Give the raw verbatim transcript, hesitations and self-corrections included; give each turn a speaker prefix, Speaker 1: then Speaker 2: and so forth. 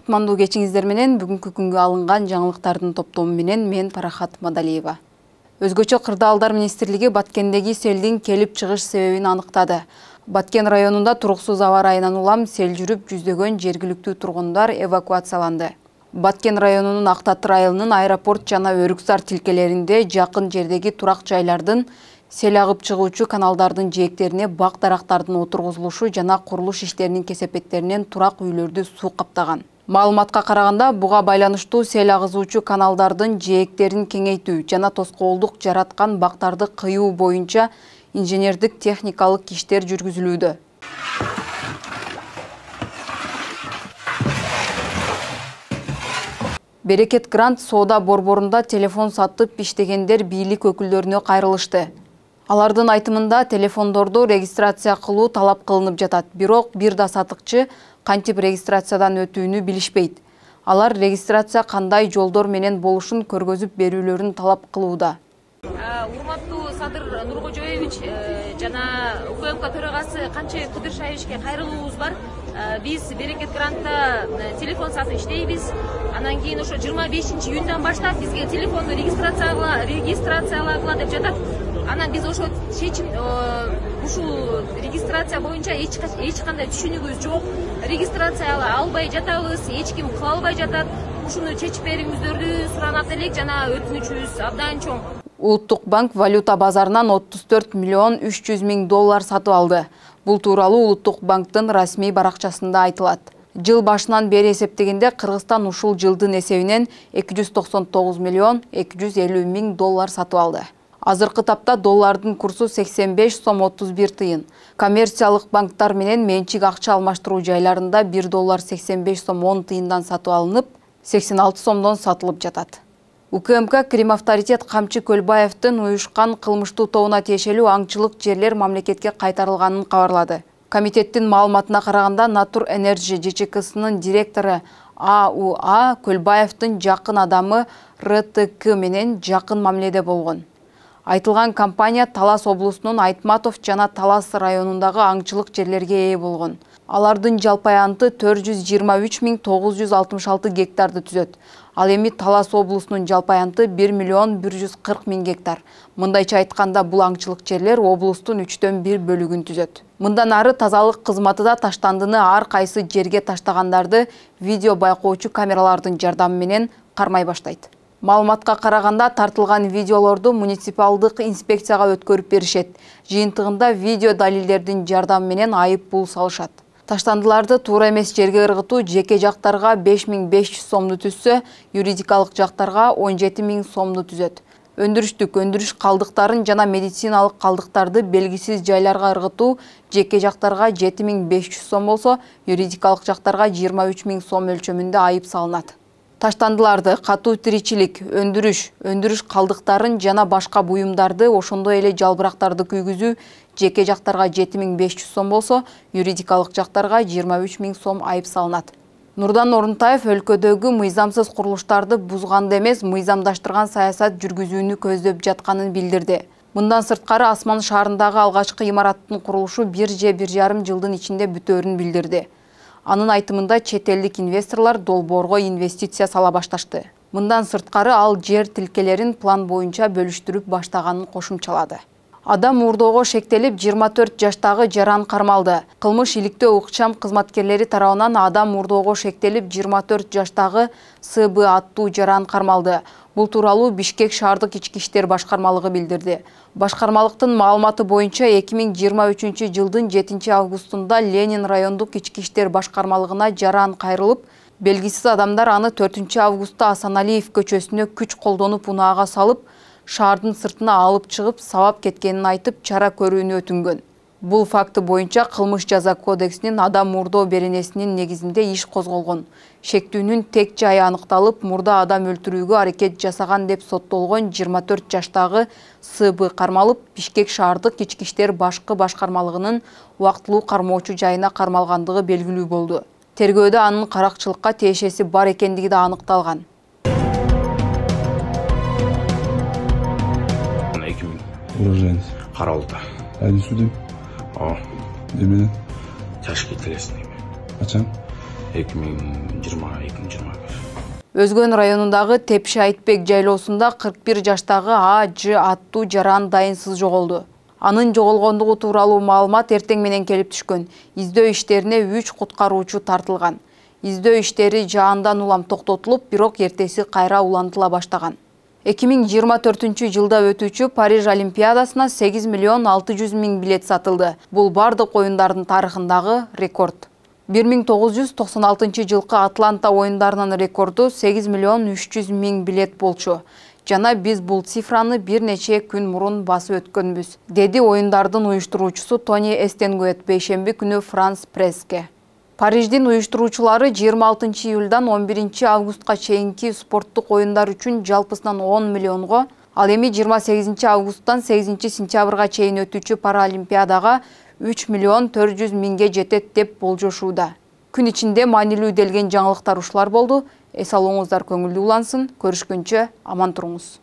Speaker 1: кутмандуу кечиңиздер менен бүгүнкү күнгө алынган жаңылыктардын топтому менен мен Парахат Мадалиева. Өзгөчө кырдаалдар министрлиги Баткендеги селдин келип чыгыш себебин аныктады. Баткен районунда туруксуз аба ырайынан улам сел жүрүп жүздөгөн жергиликтүү тургундар эвакуацияланды. Баткен районунун Актатыр айылынын аэропорт жана Өрүксар тилкелеринде жакын жердеги турак жайлардын сел агып чыгуучу каналдардын жээктерине бак дарактардын отургузулушу жана курулуш иштеринин кесепеттеринен турак үйлөрдү суу каптаган. Маалыматка караганда, буга байланыштуу сел агызуучу каналдардын жээктерин кеңейтүү жана тоскоолдук жараткан бактарды кыюу боюнча инженердик техникалык иштер жүргүзүлүүдө. Берекет Грант соода борборунда телефон сатып иштегендер бийлик өкүлдөрүнө кайрылышты. Алардын айтымында телефондорду регистрация кылуу талап кылынып жатат, бирок бир да сатыкчы кантип регистрациядан өтүүнү билишпейт. Алар регистрация кандай жолдор менен болушун көргөзүп берүүлөрүн талап кылууда.
Speaker 2: Урматтуу Садыр Нуркожоевич жана УКМК төрагасы Канче Кудыршаевичке кайрылуубуз бар. Биз Берекет Грантта телефон сатып иштейбиз. Анан кийин ошо жыйырма бешинчи июндан баштап бизге телефонду регистрациялагыла деп жатат. Анан биз ошо чечим ушул регистрация боюнча эч кандай түшүнүгүбүз жок. Регистрация албай жатабыз, эч ким кыла албай жатат. Ушуну чечип бериңиздерди суранат элек жана өтүнүчүбүз абдан чоң.
Speaker 1: Улуттук банк валюта базарынан отуз төрт миллион үч жүз миң доллар сатып алды. Бул тууралуу Улуттук банктын расмий баракчасында айтылат. Жыл башынан бери эсептегенде Кыргызстан ушул жылдын эсебинен эки жүз токсон тогуз миллион эки жүз элүү миң доллар сатып алды. Азыркы тапта доллардын курсу сексен беш сом отуз бир тыйын. Коммерциялык банктар менен менчик акча алмаштыруу жайларында бир доллар сексен беш сом он тыйындан сатып алынып, сексен алты сомдон сатылып жатат. УКМК Крим авторитет Камчы Көлбаевдин уюшкан кылмыштуу тобуна тиешелүү аңчылык жерлер мамлекетке кайтарылганын кабарлады. Комитеттин маалыматына караганда, Натур Энерджи ЖЧКсынын директору А У А Көлбаевдин жакын адамы Р Т К менен жакын мамиледе болгон. Айтылган компания Талас облусунун Айтматов жана Талас районундагы аңчылык жерлерге ээ болгон. Алардын жалпы аянты төрт жүз жыйырма үч миң тогуз жүз алтымыш алты гектарды түзөт. Ал эми Талас облусунун жалпы аянты бир миллион бир жүз кырк миң гектар. Мындайча айтканда, бул аңчылык жерлер облустун үчтөн бир бөлүгүн түзөт. Мындан ары тазалык кызматы да таштандыны ар кайсы жерге таштагандарды видео байкоочу камералардын жардамы менен кармай баштайт. Маалыматка караганда, тартылган видеолорду муниципалдык инспекцияга өткөрүп беришет. Жыйынтыгында видео далилдердин жардамы менен айып пул салышат. Таштандыларды туура эмес жерге ыргытуу жеке жактарга беш миң беш жүз сомду түзсө, юридикалык жактарга он жети миң сомду түзөт. Өндүрүштүк өндүрүш калдыктарын жана медициналык калдыктарды белгисиз жайларга ыргытуу жеке жактарга жети миң беш жүз сом болсо, юридикалык жактарга жыйырма үч миң сом өлчөмүндө айып салынат. Таштандыларды катуу тиричилик, өндүрүш, өндүрүш калдыктарын жана башка буюмдарды, ошондой эле жалбырактарды күйгүзүү жеке жактарга жети миң беш жүз сом болсо, юридикалык жактарга жыйырма үч миң сом айып салынат. Нурдан Орунтаев өлкөдөгү мыйзамсыз курулуштарды бузганды эмес, мыйзамдаштырган саясат жүргүзүүнү көздөп жатканын билдирди. Мындан сырткары, Асман шаарындагы алгачкы имараттын курулушу бир же бир жарым жылдын ичинде бүтөөрүн билдирди. Анын айтымында, чет элдик инвесторлор долбоорго инвестиция сала башташты. Мындан сырткары, ал жер тилкелерин план боюнча бөлүштүрүп баштаганын кошумчалады. Адам мурдоого шектелип, жыйырма төрт жаштагы жаран кармалды. Кылмыш иликтөө укчам кызматкерлери тарабынан адам мурдоого шектелип, жыйырма төрт жаштагы С Б аттуу жаран кармалды. Бул тууралуу Бишкек шаардык ички иштер башкармалыгы билдирди. Башкармалыктын маалыматы боюнча, эки миң жыйырма үчүнчү жылдын жетинчи августунда Ленин райондук ички иштер башкармалыгына жаран кайрылып, белгисиз адамдар аны төртүнчү августта Асаналиев көчөсүнө күч колдонуп унаага салып, шаардын сыртына алып чыгып, сабап кеткенин айтып, чара көрүүнү өтүнгөн. Бул факты боюнча Кылмыш жаза кодексинин адам мурдоо беренесинин негизинде иш козголгон. Шектүүнүн тек жайы аныкталып, мурда адам өлтүрүүгө аракет жасаган деп соттолгон жыйырма төрт жаштагы С Б кармалып, Бишкек шаардык ички иштер башкы башкармалыгынын убактылуу кармоочу жайына кармалгандыгы белгилүү болду. Тергөөдө анын каракчылыкка тиешеси бар экендиги да аныкталган.
Speaker 3: Уроженец.
Speaker 4: Каралды.
Speaker 3: Айдын судим?
Speaker 4: О.
Speaker 3: Эмне?
Speaker 4: Ташкент телесине.
Speaker 3: Качан?
Speaker 4: эки миң жыйырма экинчи
Speaker 1: Өзгөн районундагы Тепши Айтбек жайлоосунда кырк бир жаштагы А Ж аттуу жаран дайынсыз жоголду. Анын жоголгондугу тууралуу маалымат эртең менен келип түшкөн. Издөө иштерине үч куткаруучу тартылган. Издөө иштери жаандан улам токтотулуп, бирок эртеси кайра улантыла баштаган. эки миң жыйырма төртүнчү жылда өтүүчү Париж Олимпиадасына сегиз миллион алты жүз миң билет сатылды. Бул бардык оюндардын тарыхындагы рекорд. бир миң тогуз жүз токсон алтынчы жылкы Атланта оюндарынын рекорду сегиз миллион үч жүз миң билет болчу. Жана биз бул цифраны бир нече күн мурун басып өткөнбүз, деди оюндардын уюштуруучусу Тони Эстенгует бейшемби күнү Франс Пресске. Париждин уюштуруучулары жыйырма алтынчы июлдан он биринчи августка чейинки спорттук оюндар үчүн жалпысынан он миллионго, ал эми жыйырма сегизинчи августтан сегизинчи сентябрга чейин өтүүчү Паралимпиадага үч миллион төрт жүз миңге жетет деп болжошууда. Күн ичинде маанилүү делген жаңылыктар ушулар болду. Эс алууңуздар көңүлдүү улансын. Көрүшкөнчө аман туруңуз.